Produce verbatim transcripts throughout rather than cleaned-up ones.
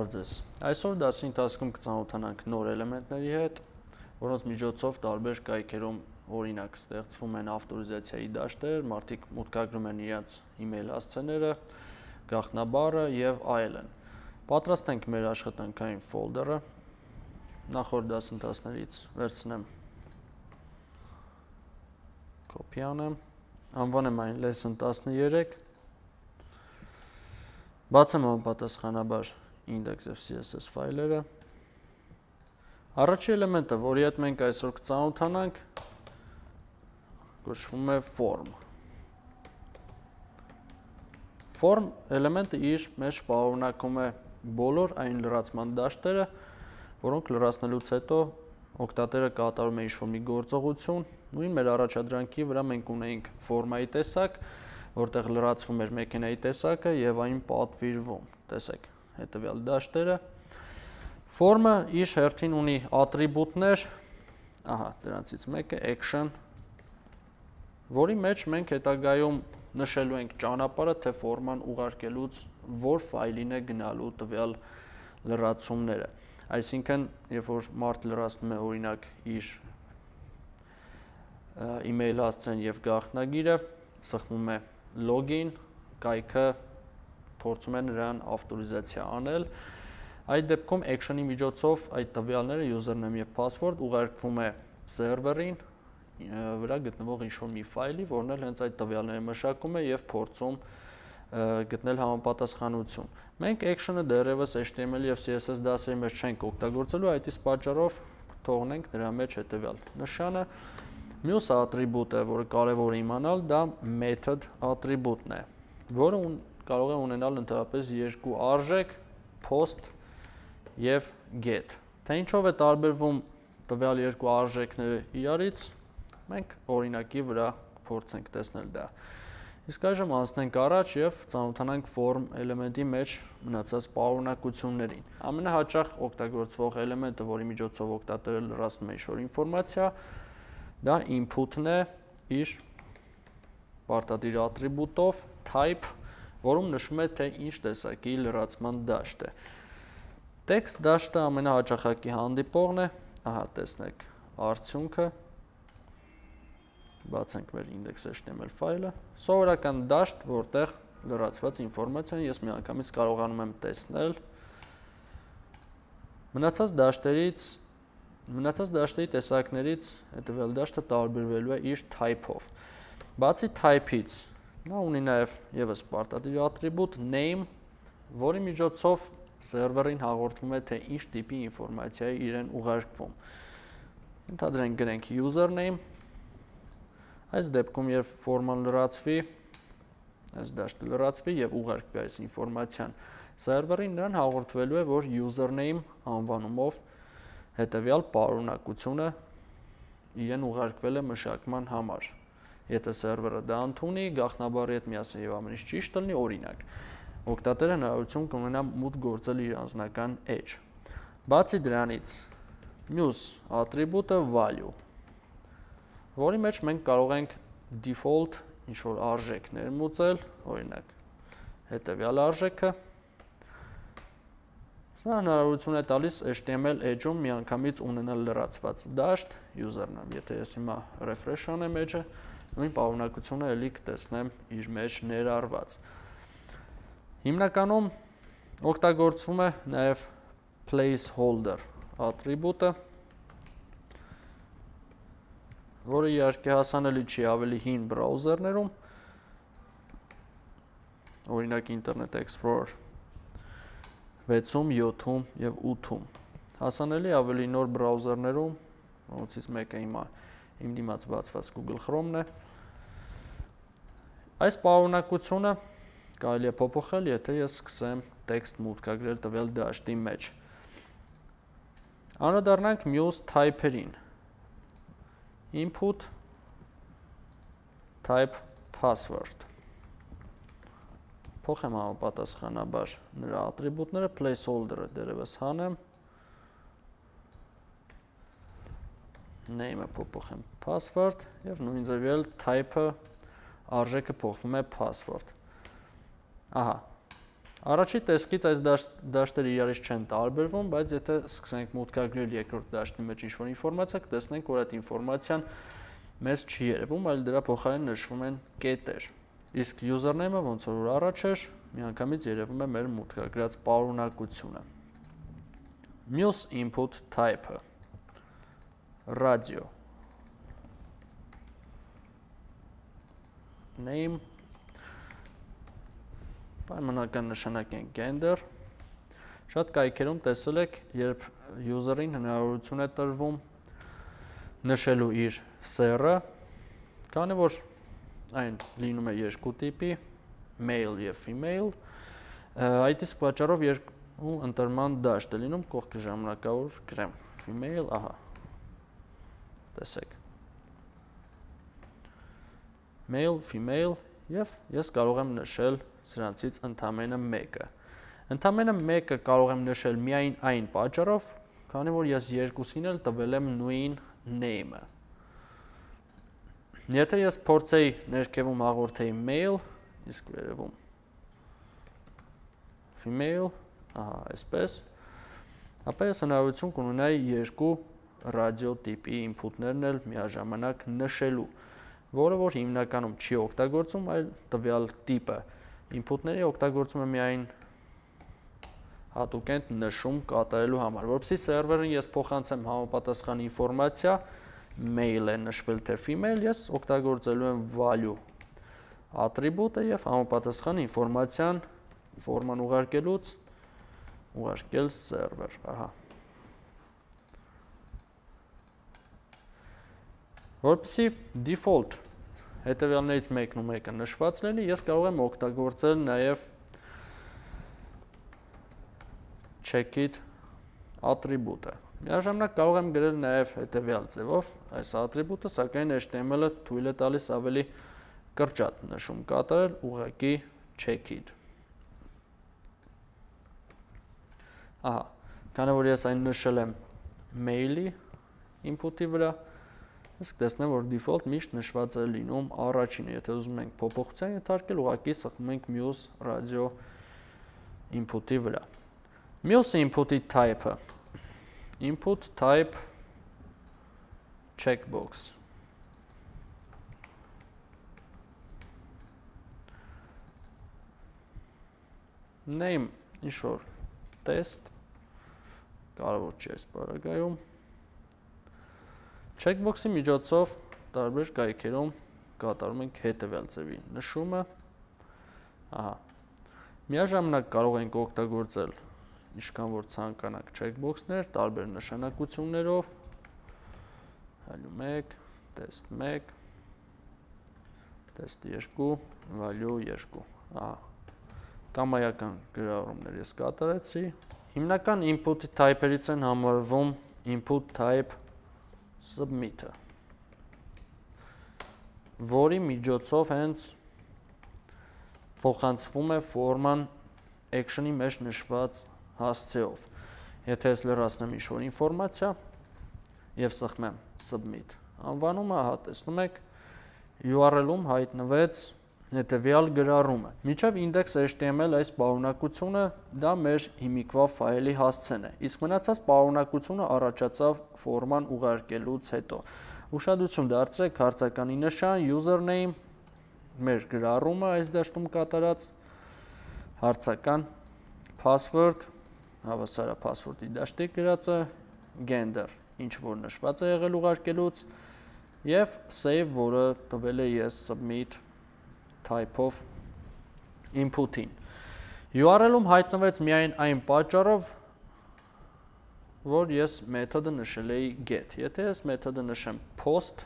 Բարև ձեզ։ Այսօր դասի ընթացքում կծանոթանանք նոր էլեմենտների հետ, որոնց միջոցով տարբեր կայքերում օրինակ ստեղծվում են ավտորիզացիայի դաշտեր, մարդիկ մուտքագրում են իրենց email հասցեները, գաղտնաբառը եւ այլն։ Պատրաստենք մեր աշխատանքային ֆոլդերը։ Նախորդ դասընթացներից վերցնեմ կոպի անեմ, անվանեմ այն lesson տասներեք, բացեմ համապատասխանաբար index եւ C S S ֆայլերը։ Առաջին էլեմենտը, որի հետ մենք այսօր կծանոթանանք, կոչվում է form։ Form էլեմենտը իր մեջ պարունակում է բոլոր այն լրացման դաշտերը, որոնք լրացնելուց հետո օգտատերը կատարում է ինչ-որ մի գործողություն, նույն մեր առաջադրանքի վրա մենք ունեինք ֆորմայի տեսակ, որտեղ լրացվում էր մեքենայի տեսակը եւ այն պատվիրվում։ Տեսեք, հետեւյալ դաշտերը։ Form-ը իր հերթին ունի ատրիբուտներ, ահա, դրանցից մեկը action, որի մեջ մենք հետագայում նշելու ենք ճանապարհը, թե ֆորման ուղարկելուց որ ֆայլին է գնալու տվյալ լրացումները։ Այսինքն, երբ որ մարդ լրացնում է օրինակ իր email հասցեն եւ գաղտնագիրը, սխմում է login, կայքը փորձում է նրան ավտորիզացիա անել։ Այդ դեպքում action-ի միջոցով այդ տվյալները username եւ password ուղարկվում է սերվերին վրա գտնվող ինչ-որ մի ֆայլի, որն էլ հենց այդ տվյալները մշակում է եւ փորձում գտնել համապատասխանություն։ Մենք action-ը դեռևս H T M L եւ C S S դասերի մեջ չենք օգտագործելու, այդ իսկ պատճառով թողնենք դրա մեջ հետեւյալ նշանը։ Մյուս ատրիբուտը, որը կարևոր է իմանալ, դա method ատրիբուտն է, որը կարող է ունենալ ընդհանրապես երկու արժեք, post եւ get։ Թե ինչով է տարբերվում տվյալ երկու արժեքները իրարից, մենք օրինակի վրա փորձենք տեսնել դա։ Իսկ այժմ անցնենք առաջ եւ ծանոթանանք form էլեմենտի մեջ մնացած պարունակություններին։ Ամենահաճախ օգտագործվող էլեմենտը, որի միջոցով օգտատերը լրացնում է ինչ-որ ինֆորմացիա, դա input-ն է իր պարտադիր ատրիբուտով type, որում նշվում է, թե ինչ տեսակի լրացման դաշտ է։ Text դաշտը ամենահաճախակի հանդիպողն է, ահա տեսնեք արդյունքը, բացենք մեր index H T M L ֆայլը, սովորական դաշտ, որտեղ լրացված ինֆորմացիան ես միանգամից կարողանում եմ տեսնել։ Մնացած դաշտերից, մնացած դաշտերի տեսակներից հետևյալ դաշտը տարբերվելու է իր type-ով։ Բացի type-ից, նա ունի նաև եւս պարտադիր ատրիբուտ name, որի միջոցով սերվերին հաղորդվում է, թե ինչ տիպի ինֆորմացիա է իրեն ուղարկվում։ Ընդհանրենք գրենք username, այս դեպքում երբ ֆորման լրացվի, այս դաշտը լրացվի եւ ուղարկվի այս ինֆորմացիան սերվերին, նրան հաղորդվելու է, որ username անվանումով հետեւյալ պարունակությունը իրեն ուղարկվել է մշակման համար։ Եթե սերվերը դա ընդունի, գաղտնաբառի հետ միասին եւ ամեն ինչ ճիշտ լինի, օրինակ, օգտատերը հնարավորություն կունենա մուտք գործել իր անձնական edge։ Բացի դրանից, մյուս ատրիբուտը value, որի մեջ մենք կարող ենք default ինչ-որ արժեք ներմուծել, օրինակ, հետևյալ արժեքը։ Սա հնարավորություն է տալիս H T M L edge-ում միանգամից ունենալ լրացված դաշտ, username, եթե ես հիմա refresh անեմ edge-ը, նույն պարունակությունը էլի կտեսնեմ իր մեջ ներառված։ Հիմնականում օգտագործվում է նաև placeholder ատրիբուտը, որը իհարկե հասանելի չի ավելի հին բրաուզերներում, օրինակ Internet Explorer վեցում, յոթում եւ ութում։ Հասանելի ավելի նոր բրաուզերներում, որոնցից մեկը հիմա իմ դիմաց բացված Google Chrome-ն է։ Այս պարունակությունը կարելի է փոփոխել, եթե ես սկսեմ տեքստ մուտքագրել տվյալ դաշտի մեջ։ Անդրադառնանք մյուս type-երին։ Input type password։ Փոխեմ համապատասխանաբար նրա ատրիբուտները, placeholder-ը դերևս հանեմ։ Name-ը փոփոխեմ password եւ նույն ձևել type-ը արժեքը փոխվում է password։ Ահա, Առաջի տեսքից այս դաշտերը իրարից չեն տարբերվում, բայց եթե սկսենք մուտքագրել երկրորդ դաշտի մեջ ինչ-որ ինֆորմացիա, կտեսնենք, որ այդ ինֆորմացիան մեզ չի երևում, այլ դրա փոխարեն նշվում են կետեր։ Իսկ username-ը ոնց որ առաջ էր, միանգամից երևում է մեր մուտքագրած պարունակությունը։ Մյուս input type-ը radio name պայմանական նշանակ են gender։ Շատ կայքերում տեսել եք, երբ user-ին հնարավորություն է տրվում նշելու իր սեռը, քանի որ այն լինում է երկու տիպի, male եւ female, այդ իսկ պատճառով երկու ընտրման դաշտ է լինում, կողքը ժամանակավոր գրեմ female, ահա, տեսեք, male, female եւ ես կարող եմ նշել սրանցից ընդամենը մեկը։ Ընդամենը մեկը կարող եմ նշել միայն այն պատճառով, քանի որ ես երկուսին էլ տվել եմ նույն name-ը։ Եթե ես փորձեի ներքևում հաղորդեի male, իսկ վերևում female, ահա, այսպես, ապա ես հնարավորություն կունենայի երկու ռադիո տիպի ինփուտներն էլ միաժամանակ նշելու, որը որ հիմնականում չի օգտագործում, այլ տվյալ տիպը ինփուտների օգտագործում է միայն հատուկենտ նշում կատարելու համար, որպեսզի սերվերին ես փոխանցեմ համապատասխան ինֆորմացիա, male է նշվել թե female, ես օգտագործելու եմ value ատրիբուտը եւ համապատասխան ինֆորմացիան ֆորման ուղարկելուց ուղարկել սերվեր, ահա։ Որպեսզի default հետևյալներից մեկն ու մեկը նշված լինի, ես կարող եմ օգտագործել նաև checkit ատրիբուտը։ Միաժամանակ կարող եմ գրել նաև հետևյալ ձևով այս ատրիբուտը, սակայն H T M L-ը թույլ է տալիս ավելի կրճատ նշում կատարել, ուղղակի checkit։ Ահա, քանի որ ես այն նշել եմ mail-ի input-ի վրա, իսկ տեսնեմ, որ default միշտ նշված է լինում առաջինը, եթե ուզում ենք փոփոխության ենթարկել, ուղղակի սխմում ենք մյուս ռադիո input-ի վրա։ Մյուս input-ի type-ը input type checkbox։ Name ինչ-որ test, կարևոր չի այս բaragայում։ Checkbox-ի միջոցով տարբեր կայքերում կատարում ենք հետևյալ ձևի նշումը, ահա, միաժամանակ կարող ենք օգտագործել ինչքան որ ցանկանանք checkbox-ներ, տարբեր նշանակություններով, value մեկ, test մեկ, test երկու, value երկու, ահա, կամայական գրառումներ ես կատարեցի, հիմնական input type-երից են համարվում input type submit-ը, որի միջոցով հենց փոխանցվում է ֆորման action-ի մեջ նշված հասցեով։ Եթե ես լրացնեմ ինչ-որ ինֆորմացիա եւ սխմեմ submit անվանումը, ահա տեսնում եք U R L-ում հայտնվեց հետևյալ գրառումը։ Մինչև index H T M L այս պարունակությունը դա մեր հիմիկվա ֆայլի հասցեն է, իսկ մնացած պարունակությունը առաջացավ ֆորման ուղարկելուց հետո։ Ուշադրություն դարձրեք հարցականի նշան, username, մեր գրառումը այս դաշտում կատարած, հարցական, password, հավասարը password-ի դաշտի գրածը, gender, ինչ որ նշված է եղել ուղարկելուց, եւ save, որը տվել է ես submit type-ով input-ին։ U R L-ում հայտնվեց միայն այն պատճառով, որ ես մեթոդը նշել էի get։ Եթե ես մեթոդը նշեմ post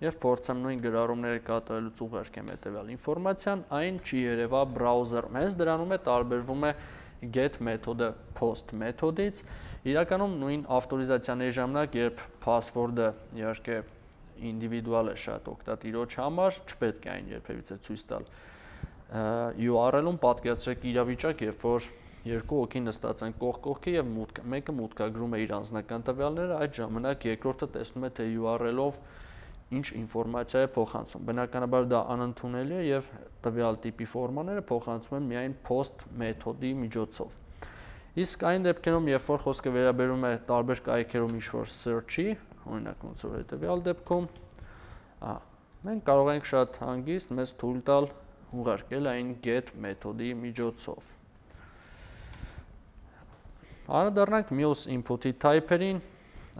եւ փորձեմ նույն գրառումները կատարելուց ուղարկեմ հետեւյալ ինֆորմացիան, այն չի երևա բրաուզերում։ Հենց դրանում է տարբերվում է get մեթոդը post մեթոդից։ Իրականում նույն ավտորիզացիաների ժամանակ, երբ password-ը իհարկե ինդիվիդուալ է շատ օգտատիրոջ համար, չպետք է այն երբևիցե ցույց տալ U R L-ում, պատկերացրեք իրավիճակ, երբ որ երկու հոգի նստած են կողք կողքի եւ մեկը մուտքագրում է իր անձնական տվյալները, այդ ժամանակ երկրորդը տեսնում է, թե U R L-ով ինչ ինֆորմացիա է փոխանցում։ Բնականաբար դա անընդունելի է եւ տվյալ տիպի ֆորմաները փոխանցում են միայն post մեթոդի միջոցով։ Իսկ այն դեպքերում, երբ որ խոսքը վերաբերում է տարբեր կայքերում ինչ-որ search-ի, օրինակ ոնց որ հետեւյալ դեպքում, ահա, մենք կարող ենք շատ հանգիստ մեզ թույլ տալ ուղարկել այն get մեթոդի միջոցով։ Անդրադառնանք մյուս input-ի type-երին,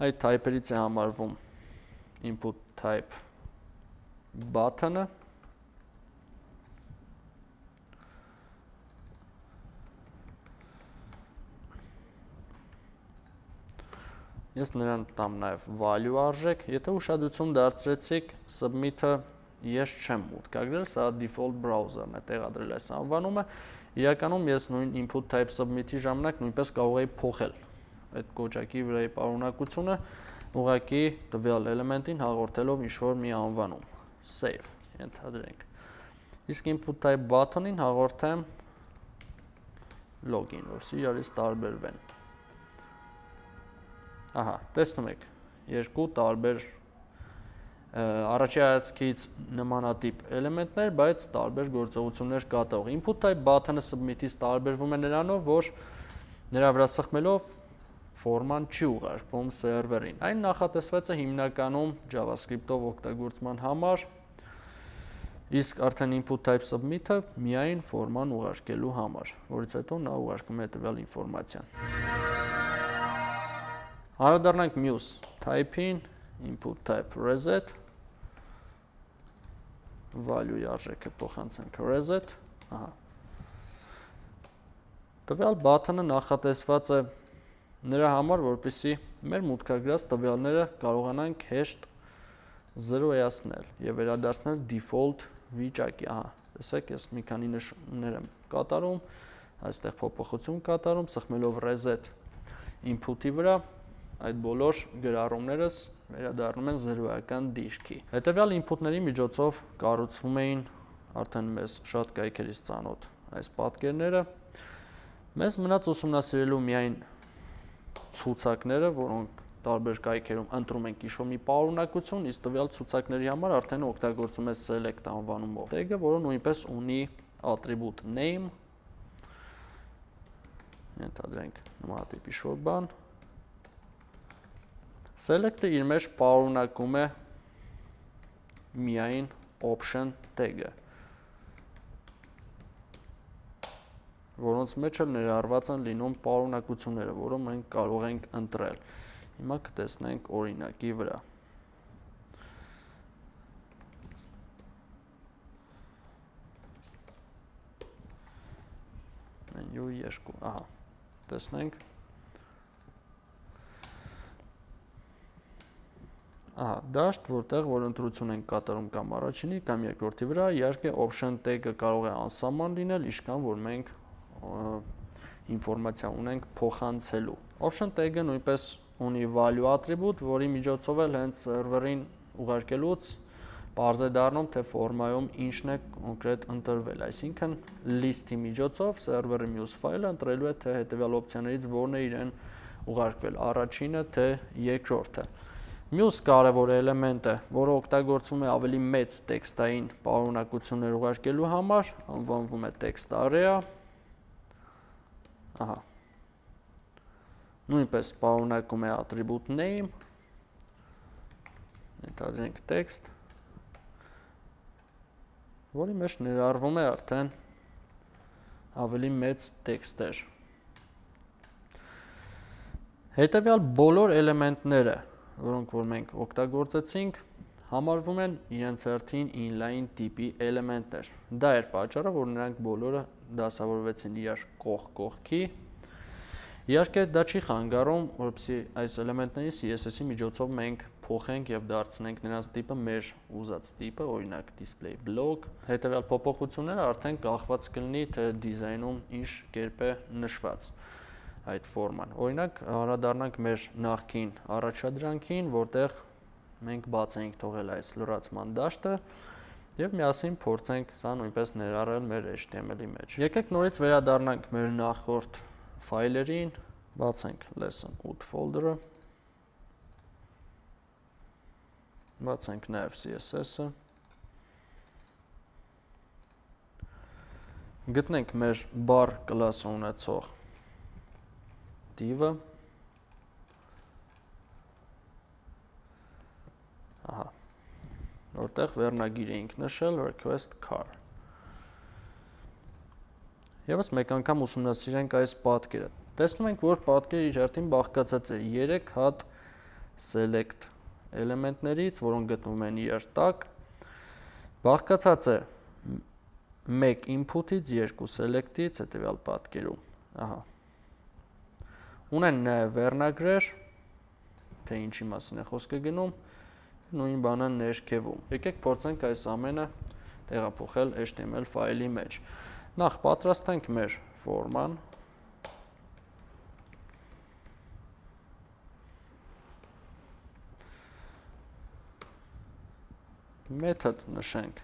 այդ type-երից է համարվում input type button-ը, ես նրան տամ նաև value արժեք, եթե ուշադրություն դարձրեցիք submit-ը ես չեմ մուտքագրել, սա default browser-ն է տեղադրել այս անվանումը, իրականում ես նույն input type submit-ի ժամանակ նույնպես կարող էի փոխել այդ կոճակի վրայի պարունակությունը, ուղղակի տվյալ էլեմենտին հաղորդելով ինչ-որ մի անվանում, save, ենթադրենք։ Իսկ input type button-ին հաղորդեմ login, որսի իրարից տարբերվեն։ Ահա, տեսնում եք, երկու տարբեր առաջի հայացքից նմանատիպ էլեմենտներ, բայց տարբեր գործողություններ կատարող։ Input type button-ը submit-ից տարբերվում է նրանով, որ նրա վրա սխմելով ֆորման չի ուղարկվում սերվերին։ Այն նախատեսված է հիմնականում JavaScript-ով օգտագործման համար, իսկ արդեն input type submit-ը միայն ֆորման ուղարկելու համար, որից հետո նա ուղարկում է տվյալ ինֆորմացիան։ Անդրադառնանք մյուս type-ին, input type reset, value-ի արժեքը փոխանցենք reset, ահա։ Տվյալ button-ը նախատեսված է նրա համար, որպեսզի մեր մուտքագրած տվյալները կարողանանք հեշտ զրոյացնել եւ վերադարձնել default վիճակի, ահա, տեսեք, ես մի քանի նշումներ եմ կատարում, այստեղ փոփոխություն կատարում, սխմելով reset input-ի վրա, այդ բոլոր գրառումներս վերադառնում են զրոյական դիրքի։ Հետևյալ input-ների միջոցով կառուցվում էին արդեն մեզ շատ կայքերից ծանոթ այս պատկերները։ Մեզ մնաց ուսումնասիրելու միայն ցուցակները, որոնք տարբեր կայքերում ընտրում ենք ինչ-որ մի պարունակություն, իսկ տվյալ ցուցակների համար արդեն օգտագործում է select անվանումով tag-ը, որը նույնպես ունի attribute name, ենթադրենք նմանատիպ ինչ-որ բան։ Select-ը իր մեջ պարունակում է միայն option tag-ը, որոնց մեջ էլ ներառված են լինում պարունակությունները, որը մենք կարող ենք ընտրել։ Հիմա կտեսնենք օրինակի վրա։ Menu երկու, ահա, տեսնենք։ Ահա, դաշտ, որտեղ որ ընտրություն ենք կատարում կամ առաջինի, կամ երկրորդի վրա, իհարկե option tag-ը կարող է անսահման լինել, ինչքան որ մենք ինֆորմացիա ունենք փոխանցելու։ Option tag-ը նույնպես ունի value attribute, որի միջոցով էլ հենց սերվերին ուղարկելուց պարզ է դառնում, թե ֆորմայում ինչն է կոնկրետ ընտրվել, այսինքն list-ի միջոցով սերվերի մյուս ֆայլը ընտրելու է, թե հետևյալ օպցիաներից որն է իրեն ուղարկվել, առաջինը, թե երկրորդը։ Մյուս կարևոր էլեմենտը, որը օգտագործվում է ավելի մեծ տեքստային պարունակություններ ուղարկելու համար, անվանվում է text area։ Ահա։ Նույնպես պարունակում է attribute name, ենթադրենք text, որի մեջ ներառվում է արդեն ավելի մեծ տեքստեր։ Հետևյալ բոլոր էլեմենտները, որոնք որ մենք օգտագործեցինք, համարվում են իրենց հերթին inline տիպի էլեմենտներ։ Դա էր պատճառը, որ նրանք բոլորը դասավորվեցին իրար կողք կողքի։ Իհարկե դա չի խանգարում, որպեսզի այս էլեմենտների C S S-ի միջոցով մենք փոխենք եւ դարձնենք նրանց տիպը մեր ուզած տիպը, օրինակ display block։ Հետևյալ փոփոխությունները արդեն կախված կլինի, թե դիզայնում ինչ կերպ է նշված այդ ֆորման։ Օրինակ, անդրադառնանք մեր նախկին առաջադրանքին, որտեղ մենք բաց ենք թողել այս լրացման դաշտը եւ միասին փորձենք սա նույնպես ներառել մեր H T M L-ի մեջ։ Եկեք նորից վերադառնանք մեր նախորդ ֆայլերին, բացենք lesson eight folder-ը։ Բացենք նաև C S S-ը։ Գտնենք մեր bar կլասը ունեցող div-ը։ Ահա, որտեղ վերնագիր էինք նշել request car։ Եվս մեկ անգամ ուսումնասիրենք այս պատկերը։ Տեսնում ենք, որ պատկերը իր հերթին բաղկացած է երեք հատ select էլեմենտներից, որոնք գտնվում են իր տակ, բաղկացած է մեկ input-ից, երկու select-ից հետևյալ պատկերում, ահա։ Ունեն նաև վերնագրեր, թե ինչի մասին է խոսքը գնում, նույն բանը ներքևում։ Եկեք փորձենք այս ամենը տեղափոխել H T M L ֆայլի մեջ։ Նախ պատրաստենք մեր ֆորման։ Method նշենք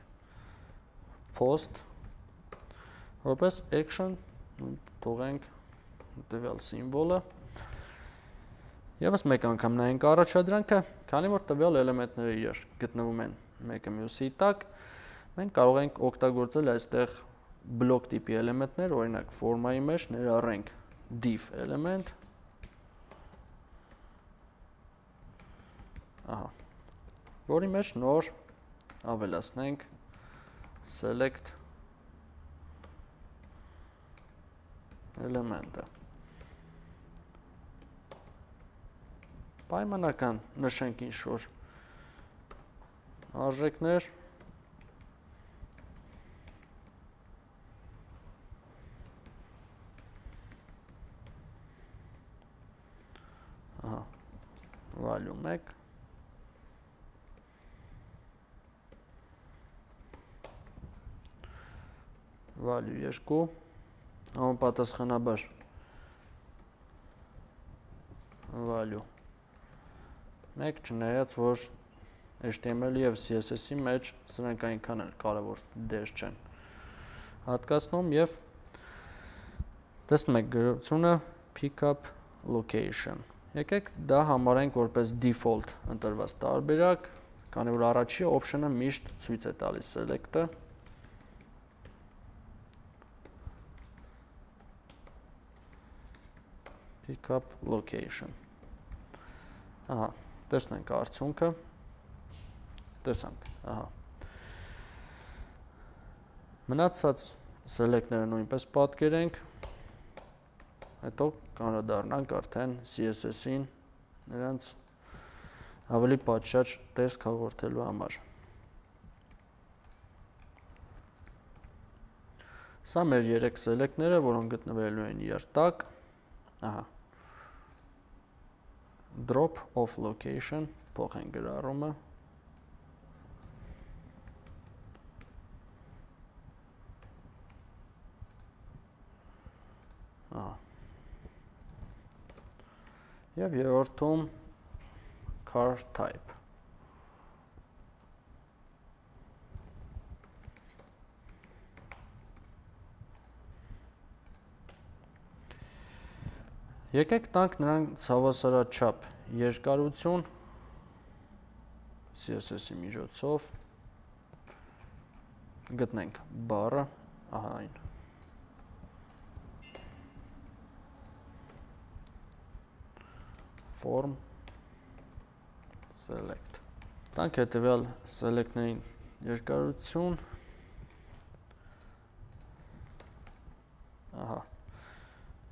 post, որպես action թողենք տվյալ սիմվոլը։ Եվս մեկ անգամ նայենք առաջադրանքը, քանի որ տվյալ էլեմենտները իրար գտնվում են մեկը մյուսի տակ, մենք կարող ենք օգտագործել այստեղ բլոկ տիպի էլեմենտներ, օրինակ ֆորմայի մեջ ներառենք div էլեմենտ, ահա, որի մեջ նոր ավելացնենք select էլեմենտը։ Պայմանական նշենք ինչ-որ արժեքներ, ահա, value մեկ, value երկու, համապատասխանաբար value մեկ, չնայած որ H T M L-ի և C S S-ի մեջ սրանք այնքան էլ կարևոր դեր չեն հատկացնում և տեսնում եք գրությունը pickup location։ Եկեք դա համարենք որպես default ընտրված տարբերակ, քանի որ առաջի option-ը միշտ ցույց է տալիս select-ը։ Pickup location։ Ահա, տեսնենք արդյունքը, տեսանք, ահա։ Մնացած select-ները նույնպես պատկերենք, հետո կանրադառնանք արդեն C S S-ին նրանց ավելի պատշաճ տեսք հաղորդելու համար։ Սա մեր երեք select-ները, որոնք գտնվելու են իրար տակ, ահա։ Drop of location, փոխենք գրառումը։ Ահա։ Եվ երրորդում car type։ Եկեք տանք նրանց հավասարաչափ երկարություն C S S-ի միջոցով, գտնենք բառը, ահա այն։ Form select։ Տանք հետևյալ select-ներին երկարություն, ահա,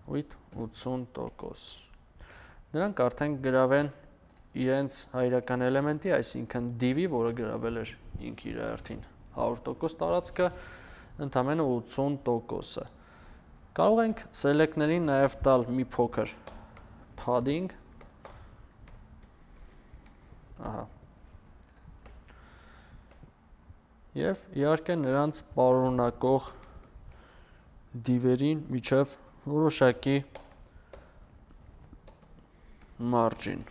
with ութսուն տոկոս։ Նրանք արդեն գրավեն իրենց հայրական էլեմենտի, այսինքն div-ի, որը գրավել էր ինք իր հերթին հարյուր տոկոս տարածքը, ընդամենը ութսուն տոկոսը։ Կարող ենք select-ներին նաև տալ մի փոքր padding, ահա։ Եվ իհարկե նրանց պարունակող div-երին միջև որոշակի margin,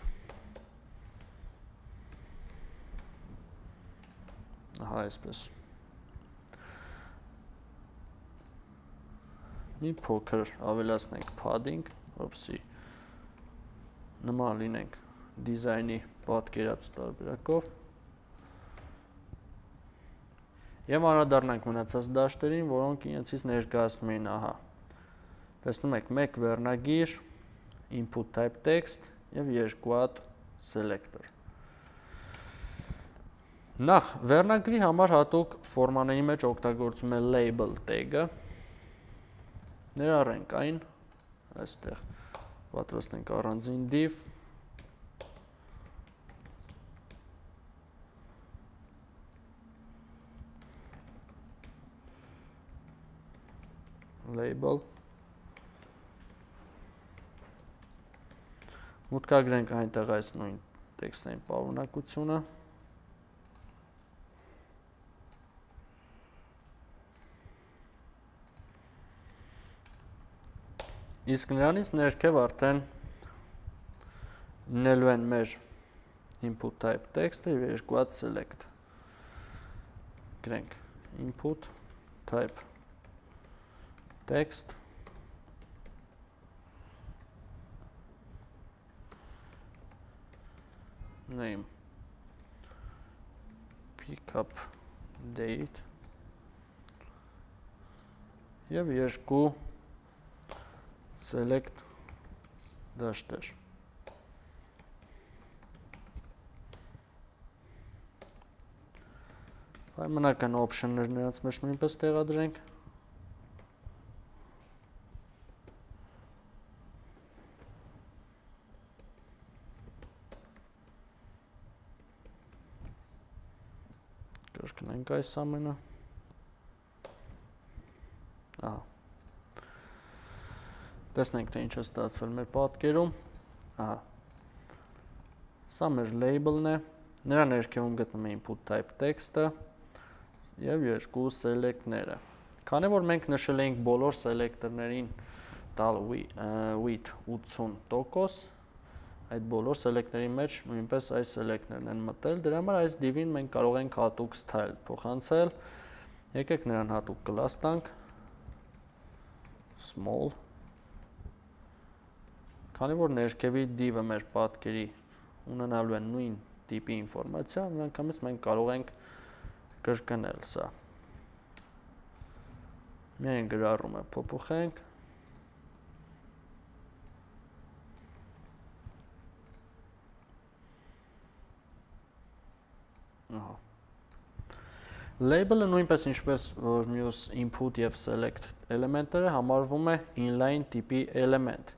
ահա այսպես։ Մի փոքր ավելացնենք padding, որպեսզի նման լինենք դիզայնի պատկերած տարբերակով։ Եվ անդրադառնանք մնացած դաշտերին, որոնք իրենցից ներկայացնում են ահա։ Տեսնում եք մեկ վերնագիր, input type text եւ երկու հատ selector։ Նախ վերնագրի համար հատուկ ֆորմաների մեջ օգտագործում է label tag-ը։ Ներառենք այն, այստեղ պատրաստենք առանձին div, label, մուտքագրենք այնտեղ այս նույն տեքստային պարունակությունը, իսկ նրանից ներքև արդեն լինելու են մեր input type text-ը եւ երկու հատ select, գրենք input type text, name, pickup date եւ երկու select դաշտեր։ Պայմանական option-ներ նրանց մեջ նույնպես տեղադրենք։ Կրկնենք այս ամենը։ Ահա։ Տեսնենք, թե ինչ է ստացվել մեր պատկերում։ Ահա։ Սա մեր label-ն է։ Նրա ներքևում գտնում է input type text-ը եւ երկու select-ները։ Քանի որ մենք նշել էինք բոլոր selector-ներին տալ width ութսուն տոկոս, այդ բոլոր select-ների մեջ նույնպես այս select-ներն են մտել, դրա համար այս div-ին մենք կարող ենք հատուկ style փոխանցել։ Եկեք նրան հատուկ class տանք, small, քանի որ ներքևի div-ը մեր պատկերի ունենալու են նույն տիպի ինֆորմացիա, միանգամից մենք կարող ենք կրկնել սա։ Միայն գրառումը փոփոխենք։ Ահա։ Label-ը նույնպես ինչպես որ մյուս input եւ select էլեմենտները համարվում է inline տիպի էլեմենտ։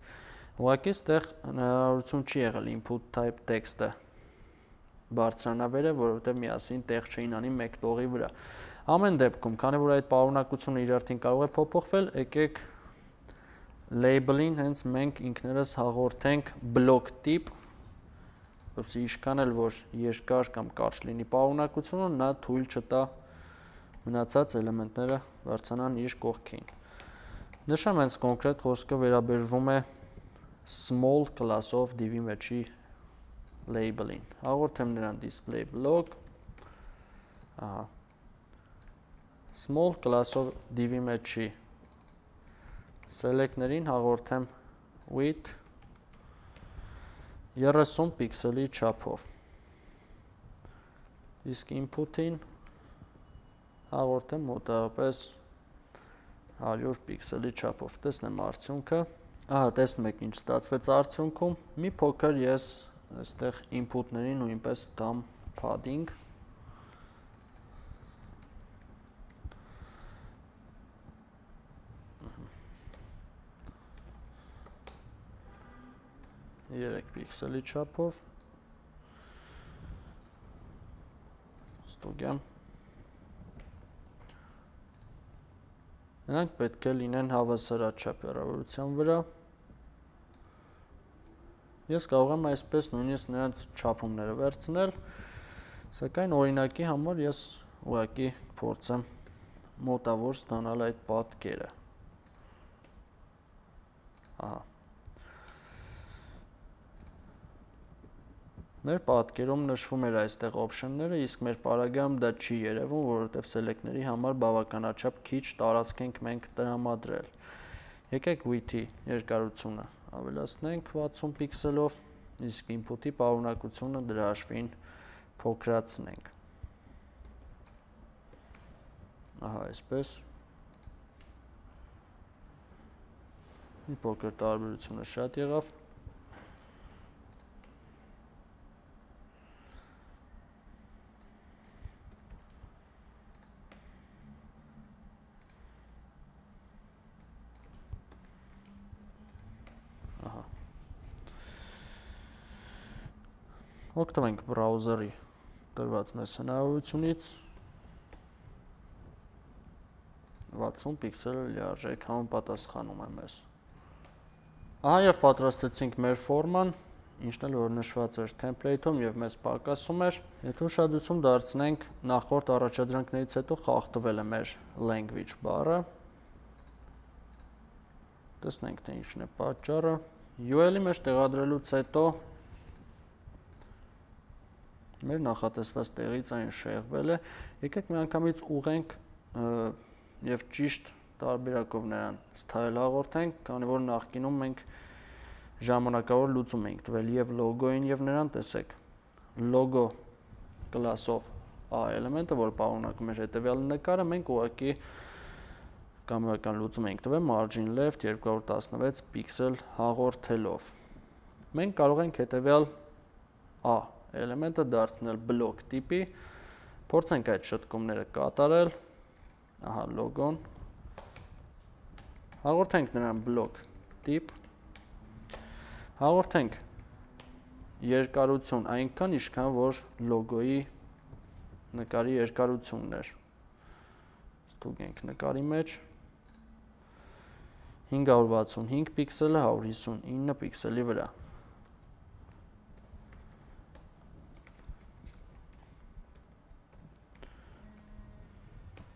Ուղղակի այդտեղ հնարավորություն չի եղել input type text-ը բարձրանավերը, որովհետեւ միասին տեղ չէին անի մեկ տողի վրա։ Ամեն դեպքում, քանի որ այդ պարունակությունը իր արդեն կարող է փոփոխվել, եկեք label-ին հենց մենք ինքներս հաղորդենք block տիպ, որպեսզի ինչքան էլ որ երկար կամ կարճ լինի պարունակությունը, նա թույլ չտա մնացած էլեմենտները բարձրանան իր կողքին։ Նշեմ, հենց կոնկրետ խոսքը վերաբերվում է small class-ով div-ի մեջի label-ին։ Հաղորդեմ նրան display block, ահա, small class-ով div-ի մեջի select-ներին հաղորդեմ width երեսուն պիքսելի չափով, իսկ input-ին հաղորդեմ մոտավորապես հարյուր պիքսելի չափով, տեսնեմ արդյունքը, ահա տեսնում եք ինչ ստացվեց արդյունքում, մի փոքր ես այստեղ input-ներին նույնպես տամ padding, երեք պիքսելի չափով, ստուգեմ, նրանք պետք է լինեն հավասարաչափ հեռավորության վրա, ես կարող եմ այսպես նույնիսկ նրանց չափումները վերցնել, սակայն օրինակի համար ես ուղղակի փորձեմ մոտավոր ստանալ այդ պատկերը, ահա, մեր պատկերում նշվում էր այստեղ option-ները, իսկ մեր պարագայում դա չի երևում, որովհետև select-ների համար բավականաչափ քիչ տարածք ենք մենք տրամադրել։ Եկեք width-ի երկարությունը ավելացնենք վաթսուն պիքսելով, իսկ input-ի պարունակությունը դրա հաշվին փոքրացնենք։ Ահա, այսպես։ Մի փոքր տարբերությունը շատ եղավ։ Ահա։ Օգտվենք բրաուզերի տրված մեզ հնարավորությունից վաթսուն պիքսել լիարժեք համապատասխանում է մեզ։ Ահա եւ պատրաստեցինք մեր ֆորման, ինչն էլ որ նշված էր template-ում եւ մեզ պակասում էր։ Եթե ուշադրություն դարձնենք նախորդ առաջադրանքներից հետո խախտվել է մեր language բառը։ Տեսնենք թե ինչն է պատճառը։ յու էլ-ի մեջ տեղադրելուց հետո մեր նախատեսված տեղից այն շեղվել է։ Եկեք մի անգամից ուղենք եւ ճիշտ տարբերակով նրան style հաղորդենք, քանի որ նախկինում մենք ժամանակավոր լուծում ենք տվել եւ լոգոին եւ նրան, տեսեք, logo class-ով a էլեմենտը, որ պարունակում էր հետեւյալ նկարը, մենք ուղղակի կամերական լուծում ենք տվել margin left երկու հարյուր տասնվեց պիքսել հաղորդելով։ Մենք կարող ենք հետեւյալ a էլեմենտը դարձնել block տիպի, փորձենք այդ շտկումները կատարել, ահա logo-ն, հաղորդենք նրան block տիպ, հաղորդենք երկարություն այնքան, ինչքան որ լոգոյի նկարի երկարությունն էր։ Ստուգենք նկարի մեջ հինգ հարյուր վաթսունհինգ պիքսելը հարյուր հիսունինը պիքսելի վրա։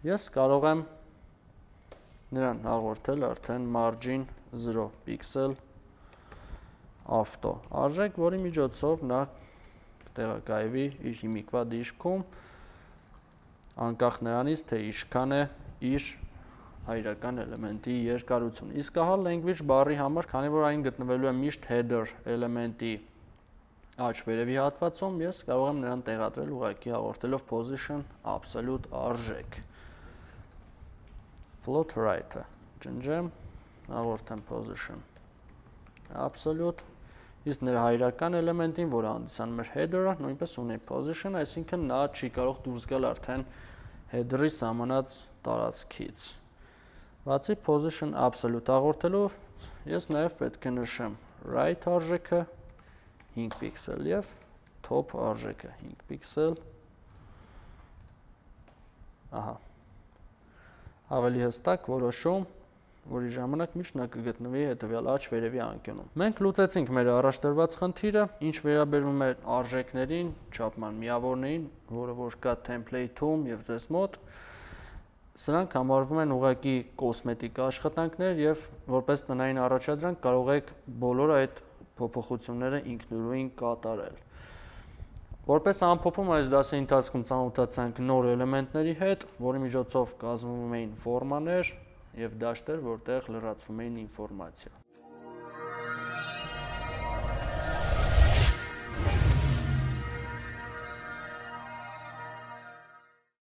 Ես կարող եմ նրան հաղորդել արդեն margin զրո պիքսել auto արժեք, որի միջոցով նա կտեղակայվի իր հիմիկվա դիրքում անկախ նրանից, թե ինչքան է իր հայրական էլեմենտի երկարություն։ Իսկ ահա language բառի համար, քանի որ այն գտնվելու է միշտ header էլեմենտի աջ վերևի հատվածում, ես կարող եմ նրան տեղադրել ուղղակի հաղորդելով position absolute արժեք։ Float right-ը ջնջեմ, հաղորդեմ position absolute, իսկ նրա հայրական էլեմենտին, որը հանդիսանում էր header-ը, նույնպես ունի position, այսինքն նա չի կարող դուրս գալ արդեն header-ի սահմանած տարածքից։ Բացի position absolute հաղորդելով, ես նաև պետք է նշեմ right արժեքը հինգ պիքսել եւ top արժեքը հինգ պիքսել։ Ահա ավելի հստակ որոշում, որի ժամանակ միշտ նա կգտնվի հետևյալ աջ վերևի անկյունում։ Մենք լուծեցինք մեր առաջ տրված խնդիրը, ինչ վերաբերում է արժեքներին, չափման միավորներին, որը որ կա template-ում եւ ձեզ մոտ, սրանք համարվում են ուղղակի կոսմետիկ աշխատանքներ եւ որպես տնային առաջադրանք կարող եք բոլոր այդ փոփոխությունները ինքնուրույն կատարել։ Որպես ամփոփում այս դասի ընթացքում ծանոթացանք նոր էլեմենտների հետ, որի միջոցով կազմվում էին ֆորմաներ եւ դաշտեր, որտեղ լրացվում էին ինֆորմացիա։